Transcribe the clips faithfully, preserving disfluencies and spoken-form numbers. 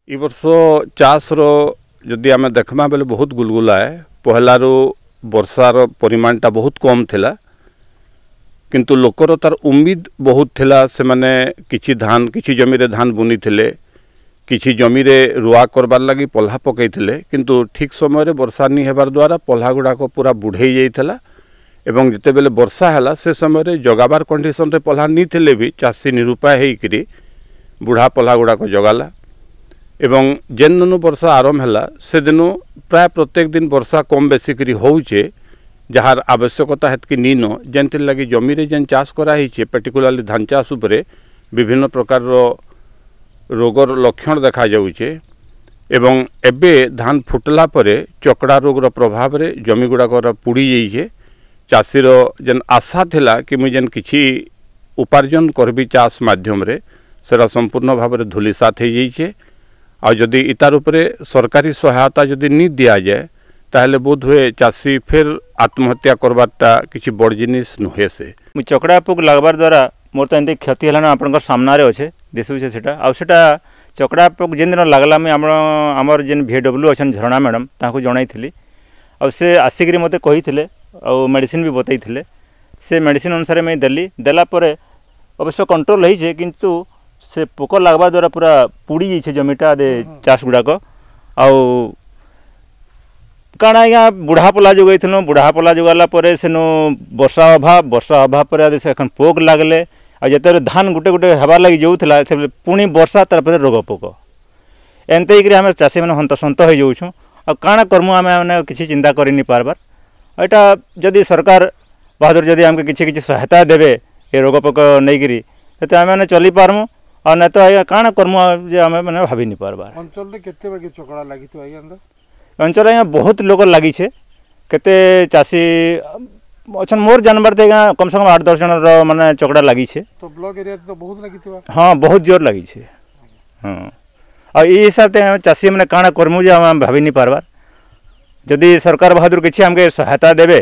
ଇ ବର୍ଷ ଚାଷର ଯଦି ଆମେ ଦେଖମା ବେଲେ ବହୁତ ଗୁଲଗୁଲା ଏ। ପହଲାରୁ ବର୍ଷାର ପରିମାଣଟା ବହୁତ କମ୍ ଥିଲା, କିନ୍ତୁ ଲୋକର ତାର ଉମ୍ମିଦ ବହୁତ ଥିଲା। ସେମାନେ କିଛି ଧାନ, କିଛି ଜମିରେ ଧାନ ବୁନିଥିଲେ, କିଛି ଜମିରେ ରୁଆ କରବାର୍ ଲାଗି ପଲ୍ହା ପକାଇଥିଲେ, କିନ୍ତୁ ଠିକ୍ ସମୟରେ ବର୍ଷା ନି ହେବାର ଦ୍ୱାରା ପଲ୍ହା ଗୁଡ଼ାକ ପୁରା ବୁଢ଼େଇ ଯାଇଥିଲା। ଏବଂ ଯେତେବେଳେ ବର୍ଷା ହେଲା, ସେ ସମୟରେ ଜଗାବାର କଣ୍ଡିସନରେ ପଲ୍ହା ନି ଥିଲେ ବି ଚାଷୀ ନିରୁପାୟ ହେଇକିରି ବୁଢ଼ା ପଲ୍ହା ଗୁଡ଼ାକ ଜଗାଲା। ଏବଂ ଯେନ୍ ଦିନୁ ବର୍ଷା ଆରମ୍ଭ ହେଲା, ସେଦିନୁ ପ୍ରାୟ ପ୍ରତ୍ୟେକ ଦିନ ବର୍ଷା କମ୍ ବେଶୀ କରି ହଉଛେ, ଯାହାର ଆବଶ୍ୟକତା ହେତ୍କି ନିନ। ଯେନ୍ଥିର୍ ଲାଗି ଜମିରେ ଯେନ୍ ଚାଷ କରାହେଇଛେ, ପର୍ଟିକୁଲାରଲି ଧାନ ଚାଷ ଉପରେ ବିଭିନ୍ନ ପ୍ରକାରର ରୋଗର ଲକ୍ଷଣ ଦେଖାଯାଉଛେ। ଏବଂ ଏବେ ଧାନ ଫୁଟିଲା ପରେ ଚକଡ଼ା ରୋଗର ପ୍ରଭାବରେ ଜମି ଗୁଡ଼ାକର ପୋଡ଼ି ଯାଇଛେ। ଚାଷୀର ଯେନ୍ ଆଶା ଥିଲା କି ମୁଇଁ ଯେନ୍ କିଛି ଉପାର୍ଜନ କରିବି ଚାଷ ମାଧ୍ୟମରେ, ସେଟା ସମ୍ପୂର୍ଣ୍ଣ ଭାବରେ ଧୂଲିସାତ ହେଇଯାଇଛେ। ଆଉ ଯଦି ଇତାର ଉପରେ ସରକାରୀ ସହାୟତା ଯଦି ନି ଦିଆଯାଏ, ତାହେଲେ ବୋଧ ହୁଏ ଚାଷୀ ଫେର୍ ଆତ୍ମହତ୍ୟା କରବାରଟା କିଛି ବଡ଼ ଜିନିଷ ନୁହେଁ ସେ। ମୁଇଁ ଚକଡ଼ା ପୋକ ଲାଗବାର ଦ୍ୱାରା ମୋର ତ ଏମିତି କ୍ଷତି ହେଲାନ, ଆପଣଙ୍କ ସାମ୍ନାରେ ଅଛେ, ଦିଶୁଛେ ସେଟା। ଆଉ ସେଟା ଚକଡ଼ା ପୋକ ଯେନ୍ ଦିନ ଲାଗଲା, ମୁଇଁ ଆମର ଆମର ଯେନ୍ ଭି ଡବ୍ଲ୍ୟୁ ଅଛନ୍ ଝରଣା ମ୍ୟାଡ଼ାମ୍, ତାଙ୍କୁ ଜଣାଇଥିଲି। ଆଉ ସେ ଆସିକିରି ମୋତେ କହିଥିଲେ ଆଉ ମେଡ଼ିସିନ୍ ବି ବତେଇଥିଲେ। ସେ ମେଡ଼ିସିନ୍ ଅନୁସାରେ ମୁଇଁ ଦେଲି। ଦେଲା ପରେ ଅବଶ୍ୟ କଣ୍ଟ୍ରୋଲ୍ ହେଇଛେ, କିନ୍ତୁ ସେ ପୋକ ଲାଗବା ଦ୍ୱାରା ପୁରା ପୁଡ଼ି ଯାଇଛେ ଜମିଟା ଦେ ଚାଷ ଗୁଡ଼ାକ। ଆଉ କାଣା ଆଜ୍ଞା, ବୁଢ଼ା ପଲା ଯୋଗେଇଥିଲୁ। ବୁଢ଼ା ପଲା ଯୋଗାଲା ପରେ ସେନୁ ବର୍ଷା ଅଭାବ, ବର୍ଷା ଅଭାବ ପରେ ସେ এখন ପୋକ ଲାଗଲେ। ଆଉ ଯେତେବେଳେ ଧାନ ଗୁଟେ ଗୁଟେ ହେବାର୍ ଲାଗି ଯାଉଥିଲା, ସେତେବେଳେ ପୁଣି ବର୍ଷା, ତାପରେ ରୋଗ ପୋକ। ଏନ୍ତେ ହେଇକିରି ଆମେ ଚାଷୀମାନେ ହନ୍ତସନ୍ତ ହେଇଯାଉଛୁଁ। ଆଉ କାଣା କର୍ମୁ ଆମେ ମାନେ କିଛି ଚିନ୍ତା କରି ନି ପାରବାର୍। ଏଇଟା ଯଦି ସରକାର ବାହାଦୁର ଯଦି ଆମକୁ କିଛି କିଛି ସହାୟତା ଦେବେ ଏ ରୋଗ ପୋକ ନେଇକିରି, ସେତେ ଆମେ ମାନେ ଚଲି ପାରମୁ। ଆଉ ନାଇଁ ତ ଆଜ୍ଞା କାଣା କର୍ମୁ ଯେ ଆମେ ମାନେ ଭାବି ନି ପାରବାର୍। ଅଞ୍ଚଳରେ କେତେ ବାକି ଚକଡ଼ା ଲାଗିଥିବ ଆଜ୍ଞା? ଅଞ୍ଚଳରେ ଆଜ୍ଞା ବହୁତ ଲୋକ ଲାଗିଛେ। କେତେ ଚାଷୀ ଅଛନ୍ ମୋର ଜାନବାର ତ ଆଜ୍ଞା କମ୍ ସେ କମ୍ ଆଠ ଦଶ ଜଣର ମାନେ ଚକଡ଼ା ଲାଗିଛେ। ତ ବ୍ଲକ ଏରିଆରେ ତ ବହୁତ ଲାଗିଥିବ? ହଁ, ବହୁତ ଜୋର ଲାଗିଛେ, ହଁ। ଆଉ ଏଇ ହିସାବରେ ଆମେ ଚାଷୀ ମାନେ କାଣା କର୍ମୁ ଯେ ଆମେ ଭାବି ନି ପାରବାର୍। ଯଦି ସରକାର ବାହାଦୁର କିଛି ଆମକେ ସହାୟତା ଦେବେ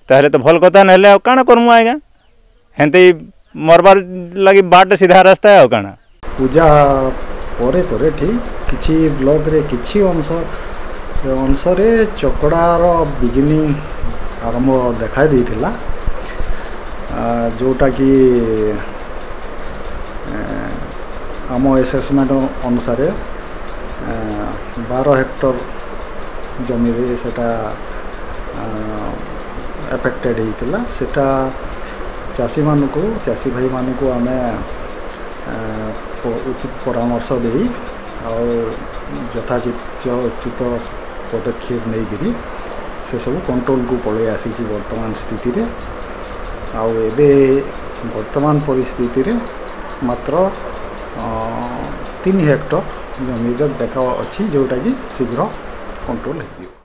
ତାହେଲେ ତ ଭଲ କଥା, ନହେଲେ ଆଉ କାଣା କର୍ମୁ ଆଜ୍ଞା, ହେନ୍ତି ମରବାର୍ ଲାଗି ବାଟ ସିଧା ରାସ୍ତା ଆଉ କାଣା। ପୂଜା ପରେ ପରେ ଠିକ୍ କିଛି ବ୍ଲକରେ କିଛି ଅଂଶ ଅଂଶରେ ଚକଡ଼ାର ବିଗିନିଂ ଆରମ୍ଭ ଦେଖାଇ ଦେଇଥିଲା, ଯେଉଁଟାକି ଆମ ଏସେସମେଣ୍ଟ ଅନୁସାରେ ବାର ହେକ୍ଟର ଜମିରେ ସେଟା ଏଫେକ୍ଟେଡ଼ ହେଇଥିଲା। ସେଟା ଚାଷୀମାନଙ୍କୁ, ଚାଷୀ ଭାଇମାନଙ୍କୁ ଆମେ ଉଚିତ ପରାମର୍ଶ ଦେଇ ଆଉ ଯଥାଚିତ ପଦକ୍ଷେପ ନେଇକରି ସେସବୁ କଣ୍ଟ୍ରୋଲକୁ ପଳେଇ ଆସିଛି ବର୍ତ୍ତମାନ ସ୍ଥିତିରେ। ଆଉ ଏବେ ବର୍ତ୍ତମାନ ପରିସ୍ଥିତିରେ ମାତ୍ର ତିନି ହେକ୍ଟର ଜମିରେ ଦେଖା ଅଛି, ଯେଉଁଟାକି ଶୀଘ୍ର କଣ୍ଟ୍ରୋଲ ହେଇଯିବ।